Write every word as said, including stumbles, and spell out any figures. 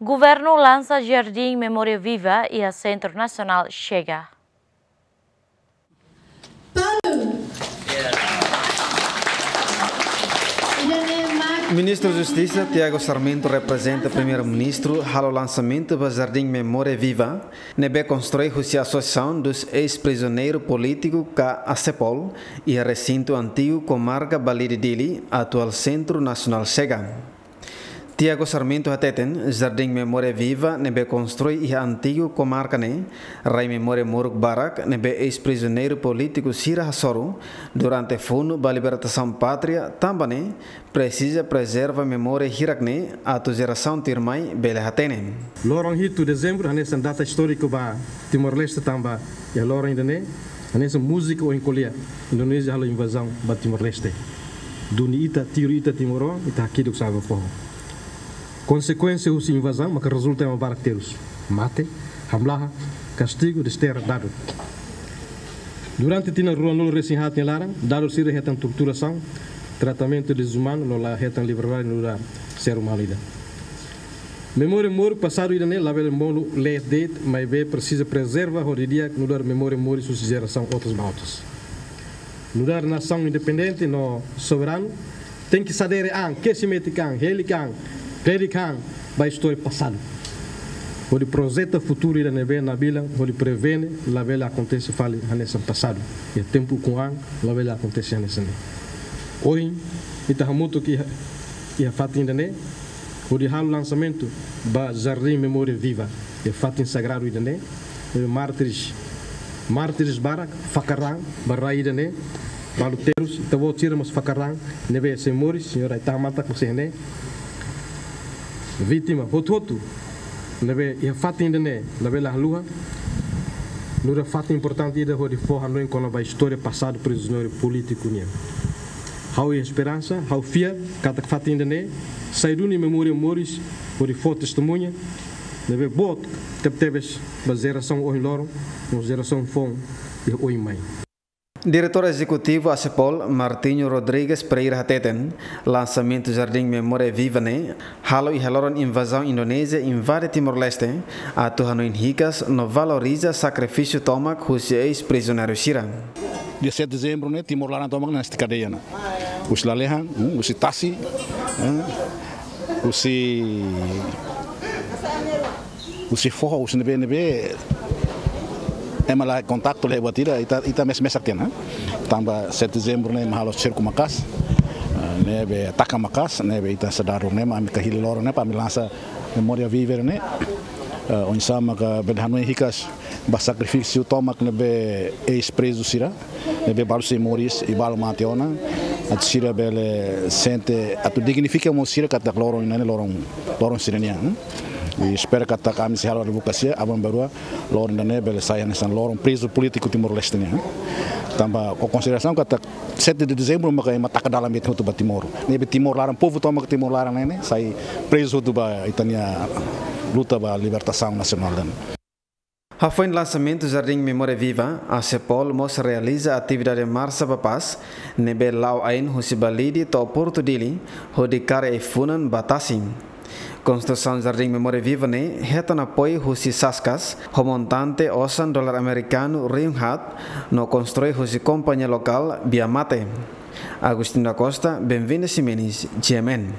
Governu lansa Jardim Memória Viva iha Sentru Nasionál Chega. Ministru Justisa Tiago Sarmento reprezenta Primeiru-Ministru halo lansamentu ba Jardim Memória Viva, ne'ebé konstrui husi Associação dos Ex-Prisioneiros Políticos ka ASEPOL, iha resintu antigu Komarka Balide Dili, atuál Sentru Nasionál Chega. Tiago Sarmento hateten, Jardim Memória Viva ne'ebé konstrui iha antigu komarka ne'e, rai memória moruk barak ne'ebé eis-prizioneiru polítiku sira hasoru durante funu ba libertasaun pátria, tanba ne'e presiza prezerva memória hirak ne'e atu jerasaun tuirmai bele hatene. Loron hitu Dezembru hanesan data istóriku ba Timor-Leste tanba iha loron ida-ne'e hanesan múzika ohin ko'alia, Indonézia halo invazaun ba Timor-Leste. Duni ita, tiru ita timoroan, ita hakiduk sa'e ba foho. Konsekuénsia husi invazaun maka rezulta ema barak terus. Mate, hamlaha, kastigu, desterra, dadut. Durante tinan ruanulu-resin-haat nia laran, dadut sira hetan torturasaun, tratamentu dezumanu no la hetan liberdade nu'udar ser umanu ida. Memória moruk pasadu ida-ne'e labele monu leet de'it, maibé presiza prezerva hodi di'ak nu'udar memória moris husi jerasaun otas ba otas. Nu'udar nasaun independente no soberanu, tenke sadere an, kesi metik an, helik an, predik an ba istória pasadu. Hodi projeta futuru ida ne'ebé nabilan, hodi prevene labele akontese fali hanesan pasadu. Iha tempu ukun an labele akontese hanesan ne'e. Ohin, ita hamutuk iha, iha fatin ida-ne'e, hodi halo lansamentu ba Jardim Memória Viva, iha fatin sagradu ida-ne'e, ne'ebé mártires, mártires barak fakar an ba rai ida-ne'e, balu terus, ita-boot sira mós fakar an, ne'ebé sei moris, señór Aitahan Mata ku sei ne'e. Vítima hotu-hotu ne'ebé iha fatin ida-ne'e labele haluha, nu'udar fatin importante ida hodi fó hanoin kona-ba istória pasadu prizioneiru polítiku nian. Ha'u iha esperansa, ha'u fiar katak fatin ida-ne'e sai duni memória moris hodi fó testemuña ne'ebé boot tebetebes ba jerasaun ohin loron no jerasaun foun iha oin mai. Diretór Ezekutivu ASEPOL, Martinho Rodrigues Pereira hateten, lansamentu Jardim Memória Viva ne'e halo iha loron invazaun Indonézia invade Timor-Leste, atu hanoin hikas no valoriza sakrifísiu tomak husi eis-prizioneiru sira. Dia sete Dezembru ne'e Timor laran tomak ne'e nasti kadeia ona. Husi lalehan, hmm, husi tasi, hmm, husi, husi foho, husi ne'ebé-ne'ebé ema la kontaktu la'e buat ida, ita, ita mes-, mesak tiha ona. Tanba sete Dezembru ne'e ema halo serku maka'as, eh, ne'ebé taka maka'as, ne'ebé ita sadar ne'e mak ami kahili loron ne'e para ami lansa Memória Viva ne'e. Eh, oinsá maka bele hanoin hikas ba sakrifísiu tomak ne'ebé eis-prezu sira, ne'ebé balu sei moris i balu mate ona, atu sira bele sente, atu dignifika mós sira katak loron ne'e loron, loron sira-nian, hmm? I espera katak ami sei halo advokasia, aban-bainrua loron ida-ne'e bele sai hanesan loron prezu polítiku Timor-Leste nian, hmm? Tanba ho konsiderasaun katak sete de Dezembru maka ema taka dalan metin hotu ba Timor. Ne'ebé Timor laran, povu tomak Timor laran ne'e, ne'e sai prezu hotu ba ita-nia luta ba libertasaun nasionál ida-ne'e. Hafoin lansamentu Jardim Memória Viva, ASEPOL mós realiza atividade Marcha ba Paz, ne'ebé la'o ain husi Balide to'o Portu Dili, hodi kaer ai-funan ba tasi. Konstrusaun Jardim Memória Viva ne'e hetan apoiu husi Saskas, ho montante osan dolar amerikanu rihun haat, no konstrui husi kompañia lokál Biamate. Agostinho da Costa, Benvinda Ximenes, G M N.